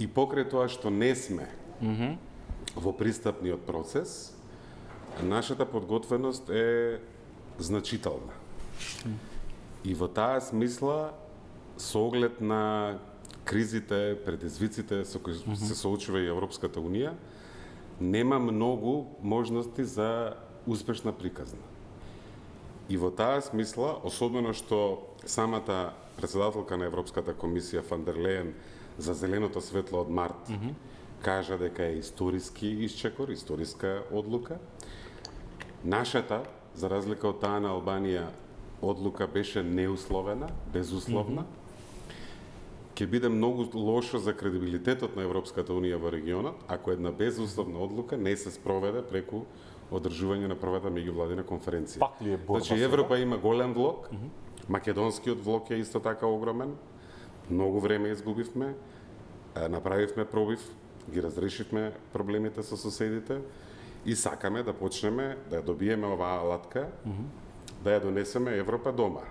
И покрај тоа што не сме во пристапниот процес, нашата подготвеност е значителна. И во таа смисла, со оглед на кризите, предизвиците со кои се соочува и Европската Унија, нема многу можности за успешна приказна. И во таа смисла, особено што самата председателка на Европската комисија Фан дер Лејен за зеленото светло од март кажа дека е историски исчекор, историска одлука. Нашата, за разлика од таа на Албанија, одлука беше неусловена, безусловна. Ќе биде многу лошо за кредибилитетот на Европската Унија во регионот, ако една безусловна одлука не се спроведе преку одржување на првата меѓувладина конференција. Пак ли е борба? Значи, Европа има голем влог, македонскиот влог е исто така огромен, многу време изгубивме, направивме пробив, ги разрешивме проблемите со соседите и сакаме да почнеме да ја добиеме оваа алатка, да ја донесеме Европа дома.